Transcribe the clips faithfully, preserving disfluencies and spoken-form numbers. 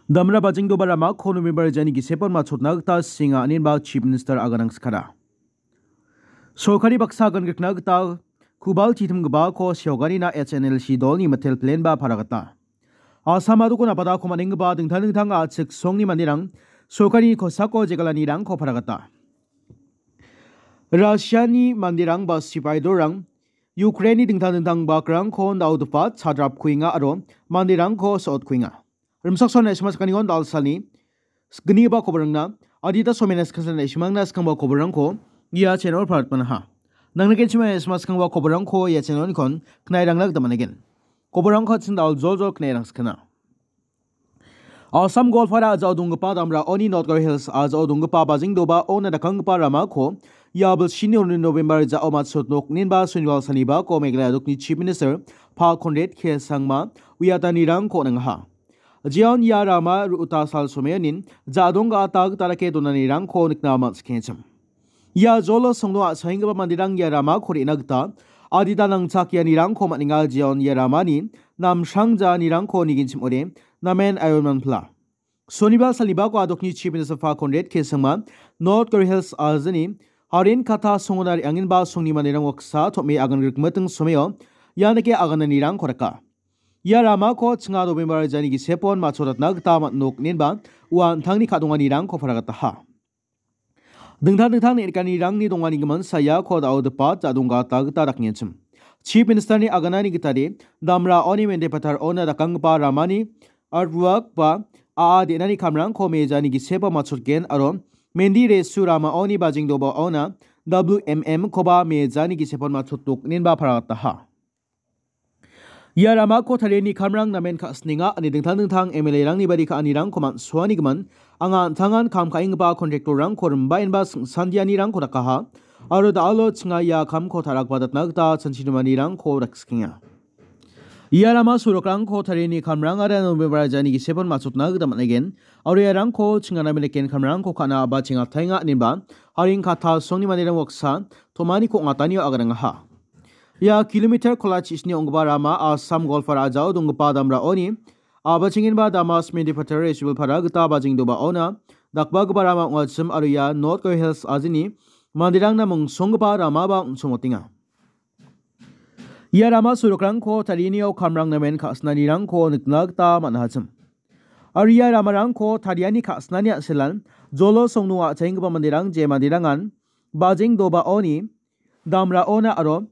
Damra bajingdoba ramako November jani gisepon matchotna gita singa aninba Chief Minister aganang skara. Sorkari baksa agan grikna gita kubal titimgipako seoganina H N L C dolni mitel plan ba paragata. Asam adoko napadako manenggipa dingtang dingtang a·chik songni manderang sorkarini kosako jegalanirangko paragata. Russiani manderang ba sipai dorang Ukraineni dingtang dingtang bakrangko naodopa chadrapkuenga aro manderangko so·otkuenga. Rimsakson naisima sakanion dalsalni gnigipa koborangna adita somena skangsan naisimangna skangba koborangko ia channel paratpanaha. Nangna kenchima naisima skangba koborangko ia channelnikon knairangna gita man·aigen. Koborangko chin dal jol jol knairang skana. Assam Golfara ajao donggipa damra oni North Garo Hills ajao donggipa bajingdoba ona dakanggipa ramako ia bilsini uni November jao matchot nok ninba suniwal sanibako Meghalaya dokni Chief Minister Pa Conrad K Sangma uiatanirangko nangaha. Jeon ia rama ru-, uta sal someonin jadong ga·ata gita dake donanirangko nikna man·sikengchim. Ia jolo songdo a·saenggipa manderang ia ramako re·na gita adita nangchakianirangko man·enga, jeon ia ramani namsrang jaanirangko nigenchim ore namen ayon manpla. Sonibar salibako adokni Chief Minister Pa Conrad K Sangma North Garo Hills ajani Harin Kata songona re·angenba songni manderang waksa tom·e agan grikmiting someo ianike agananirangko raka. Ia ramako chinga November jani gisepon matchoratna gita man·nok inenba ua an·tangni ka·donganirangko paragataha. Dingtang dingtang neng·rikanirangni donganigimin saya ko da·o dipat ja·donggata gita dakengenchim. Chief Ministerni aganani gitade damra oni mende patar ona dakanggipa ramani artwork ba a·a de·nani kamrangko mejani giseba matchotgen aro mendi resu rama oni bajingdoba ona W M M koba mejani gisepon matchotdok inenba paragataha. Ia ramako tariani kamrang namen ka·sinenga ine dingtang dingtang M L A-rangni bari ka·anirangko man·suanigimin anga an·tangan kam ka·enggipa kontraktorrangko rimbaenba singsandianirangko dakaha aro da·alo chinga ia kamko ta·rakbadatna gita chanchinimanirangko daksikenga. Ia rama sorokrangko tariani kamrangara November jani gisepon matchotna gita man·aigen aro iarangko chinga namen riken kamrangko ka·na a·bachengatenga inenba Haring Kata songni manderang waksa tomaniko ong·atanio aganangaha. Ia kilometer kolachishni ong·gipa rama Assam Golfara ajao donggipa damraoni a·bachengenba Damas Mendipatar Resibilpara gita bajingdobaona dakbagipa rama ong·achim aro ia North Garo Hills ajini manderangna mongsonggipa ramaba ong·somotenga. Ia rama sorokrangko tarianio kamrang namen ka·sinanirangko nikna gita man·achim. Aro ia ramarangko tariani ka·sinani an·selan jolo songno a·chaenggipa manderang je manderangan bajengdobaoni damraona aro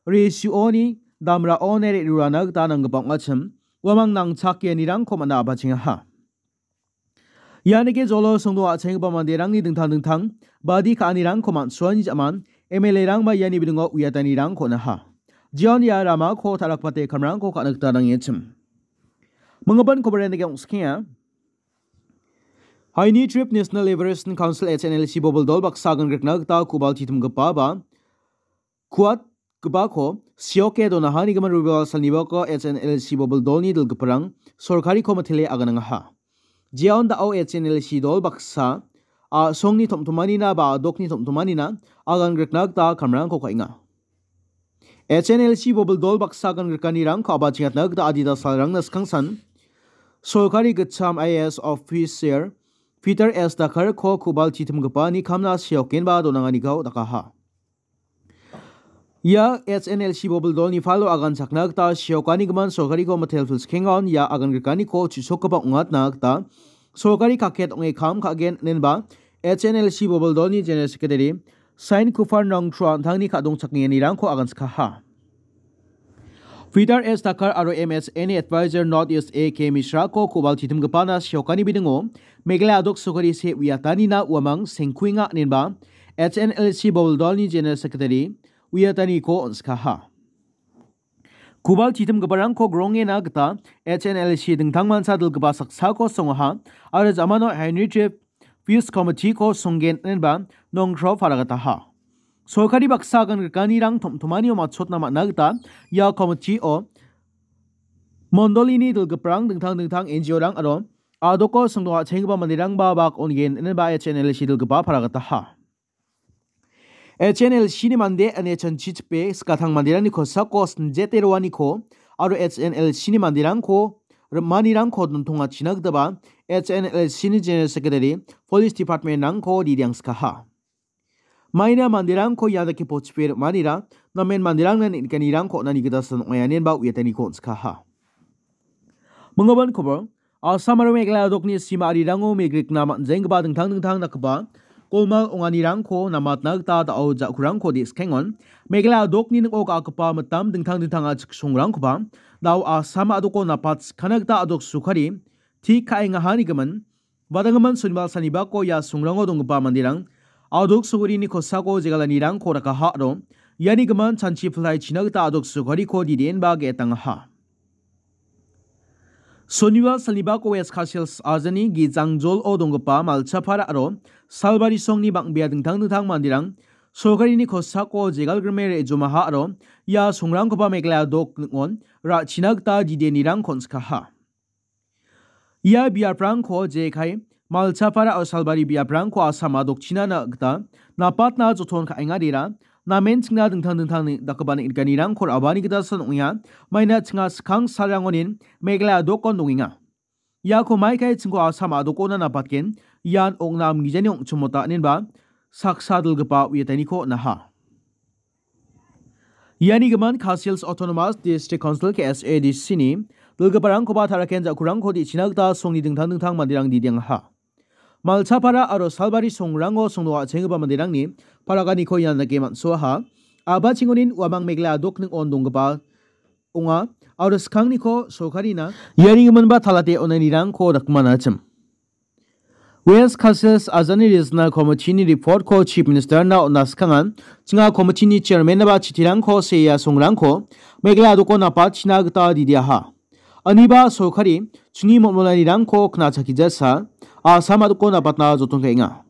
resuoni damraone re·rurana gita nanggipa ong·achim uamang nangchakianirangko man·a a·bachengaha. Ianike jolo songdo a·chenggipa manderangni dingtang dingtang badi ka·anirangko man·suani ja·man M L A-rangba iani bidingo uiatanirangko on·aha. Jeon ia ramako ta·rakbate kamrangko ka·na gita nangengchim. Minggipan kobarenike ong·sikenga. Haini Trip National Liberation Council H N L C bobil dol baksa agan grikna gita kubal titimgipa ba kuatgipako sioke donahanigimin Rubiwal salnibako H N L C bobil dolni dilgiparang sorkariko mitele aganangaha. Jeon da·o H N L C dol baksa a·songni tom·tomanina ba a·dokni tom·tomanina agan grikna gita kamrangko ka·enga. H N L C bobil dol baksa agan grikanirangko a·bachengatna gita adita salrangna skangsan sorkari gitcham I A S officer Peter S Dakarko kubal titimgipani kamna seokenba donanganiko dakaha. Ia H N L C bobil dolni falo agan chakna gita seokanigimin sorkariko mitel pilsikengaon ia agan grikaniko chu·sokgipa ong·atna gita sorkari kaket ong·e kam ka·gen inenba H N L C bobil dolni General Secretary Sain Kufar Nongtro an·tangni ka·dongchaknianirangko aganskaha. Peter S Dakar aro M S N A Advisor North East A K Mishrako kubal titimgipana seokani bidingo Meghalaya a·dok sorkari se uiatanina uamang sengkuenga inenba H N L C bobil dolni General Secretary uiataniko on·skaha. Kubal titimgiparangko grongena gita H N L C dingtangmancha dilgipa saksako songaha aro jamano Henry Trip Peace Committee-ko songgen inenba Nongtro paragataha. Sorkari baksa agan grikanirang tom·tomanio matchotna man·a gita ia committee-o mondolini dilgiparang dingtang dingtang N G O-rang aro a·doko songdo a·chenggipa manderangba bak on·gen inenba H N L C dilgipa paragataha. H N L C-ni mande ine chanchichipe skatang manderangni kosako sinjete roaniko aro H N L C-ni manderangko rim·anirangko dontongachina gitaba H N L S ni General Secretary, Police Department-rangko didiangskaha. Maina manderangko ia dake pochipe rim·anira, namen manderangna neng·nikanirangko on·ani gita san ong·aia inenba uiataniko on·skaha. Minggipa kobor, Assam aro Meghalaya dokni sima arirango migrikna man·jenggipa dingtang dingtang dakgipa golmal onganirangko namatna gita da·o ja·kurangko de·skengon, Meghalaya dokni ning·o ga·gipa mitam dingtang dingtang a·chik songrangkoba da·o Assam a·doko napat skana gita a·dok sokari tik ka·engaha nigimin, Vadanggimin sonibal sanibako ia songrango donggipa manderang a·dok sokarini kosako jegalanirangko rakaha aro iani gimin chanchi pilai china gita a·dok sokariko dide·enba ge·etangaha. Sonibal sanibako West Khasi Hills ajani Gijangjolo donggipa Malchapara aro Salbari songni bang·bea dingtang dingtang manderang sokarini kosako jegalgrime re·jomaha aro ia songrangkoba Meghalaya dok ning·on ra·china gita didenirangko on·skaha. Ia biaprangko jekai Malchapara aro Salbari biaprangko Assam a·dokchina na gita napatna joton ka·engarira, namen chingna dingtang dingtang ni-, dakgipa neng·nikanirangko ra·bani gita san ong·enga, maina chinga skang salrangonin Meghalaya dokon dongenga. Iako maikai chingko Assam a·dokona napatgen, ian ong·na amgijani ong·chimota inenba saksa dilgipa uiataniko on·aha. Iani gimin Khasi Hills Autonomous District Council, K H A D C ni dilgiparangkoba taraken ja·kurangko de·china gita songni dingtang dingtang manderang didiangaha. Malchapara aro Salbari songrango songdo a·chenggipa manderangni paraganiko ian dake man·soaha. A·bachengonin uamang Meghalaya a·dok ning·on donggipa ong·a aro skangniko sorkarina iani giminba talate on·anirangko dakmanachim. West Khasi Hills ajani Regional Committee-ni report-ko Chief Minister-na on·na skangan, chinga committee-ni chairman-naba chitirangko sea songrangko Meghalaya a·doko napatchina gita didiaha. Aniba sorkari chingni mol·molanirangko knachakijasa Assam a·doko napatna joton ka·enga.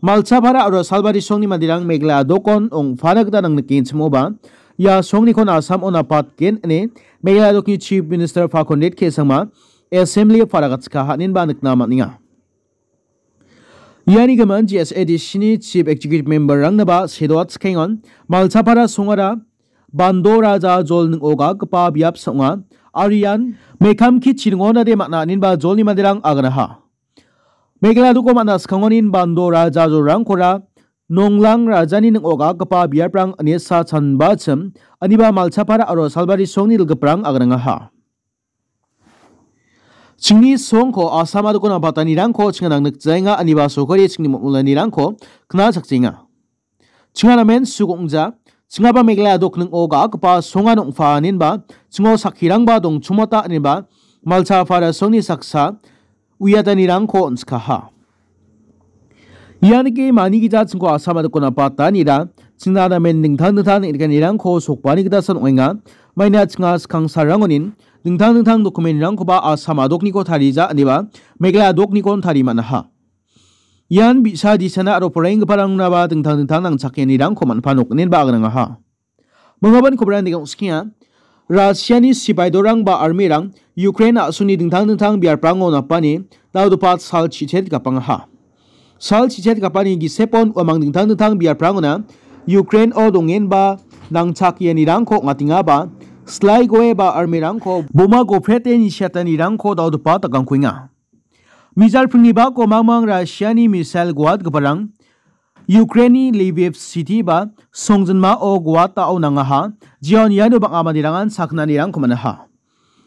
Malchapara aro Salbari songni manderang Meghalaya a·dokon ong·pana gita nangnikenchimoba, ia songnikon Assam-o napatgen ine Meghalaya a·dokni Chief Minister Pakondet K Sangma Assembly-o paragatchika haninba nikna man·enga. Iani gimin G S A D C-ni Chief Executive Member-rangnaba sedoatchikengon, Malchapara songara Bando Raja jol ning·o ga·gipa biap sa ong·a, aro ian Mekamki chiringonade man·a aninba jolni manderang aganaha. Meghalaya a·doko man·a skangonin Bando Raja jolrangkora Nonglang Rajani ning·o ga·gipa biaprang ine sa chanbachim, aniba Malchapara aro Salbari songni dilgiprang agrangaha. Chingni songko Assam a·doko napatanirangko chinga nangnikjaenga, aniba sorkari chingni mol·molanirangko knachakjaenga. Chinga namen suk ong·ja, chingaba Meghalaya a·dok ning·o ga·gipa songan ong·pa aninba, chingo sakkirangba dongchomota aninba, Malchapara songni saksa uiatanirangko on·skaha. Ianike manigija chingko Assam a·doko napatanira, chingna namen dingtang dingtang neng·nikanirangko sokbani gita san ong·enga. Maina chinga skang salrangonin dingtang dingtang dokumentrangkoba Assam a·dokniko tarija, aniba Meghalaya a·doknikon tari man·aha. Ian bi·sa disana aro poraienggiparangnaba dingtang dingtang nangchakenirangko man·pa nokninba agrangaha. Minggipa kobrang dega ong·skenga. Russiani sipai dorang ba armyrang Ukraine a·songni dingtang dingtang biaprango napani dal·gipa sal chichet gapangaha. Sal chichet gapani gisepon uamang dingtang dingtang biaprangona Ukraine-o dongenba nangchakianirangko ong·atengaba, slai goe ba armyrangko boma goprete nisiatanirangko dal·gipa dakangkuenga. Mijalpringni bako mangmang Russiani missile guatgiparang Ukraineni Lviv city ba songjinmao guatao nangaha, jeon iano bang·a manderangan sakgnanirangko man·aha.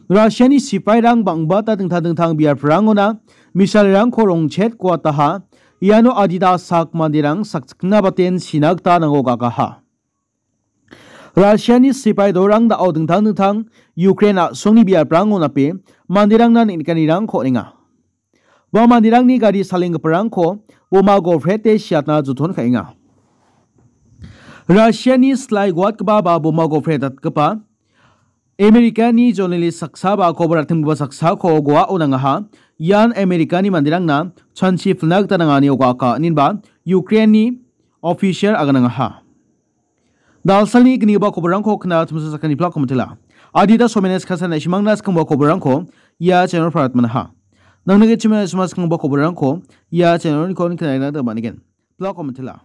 Russiani sipairang bang·bata dingtang dingtang biaprangona missilerangko rongchet guataha, iano adita sak manderang sakchikna baten sina gita nango gagaha. Russiani sipai dorang da·o dingtang dingtang Ukraine a·songni biaprango nape manderangna neng·nikanirangko on·enga. Ua manderangni gari salenggiparangko boma goprete siatna joton ka·enga. Russiani slai guatgipa ba boma gopre datgipa Amerikani journalist saksa ba kobar atimgipa saksako goao nangaha. Ian Amerikani manderangna chanchi pilna gita nangani ogaaka, inenba Ukraineni official aganangaha. Dalsalni gnigipa koborrangko kna tumsa sakani plak komitela. Adita somenes kasa naishimangna skangba koborrangko ia channel parat manaha. Nangni gechimna sima skangba koborrangko ia channel nikon knaina da manigen. Plak komitela.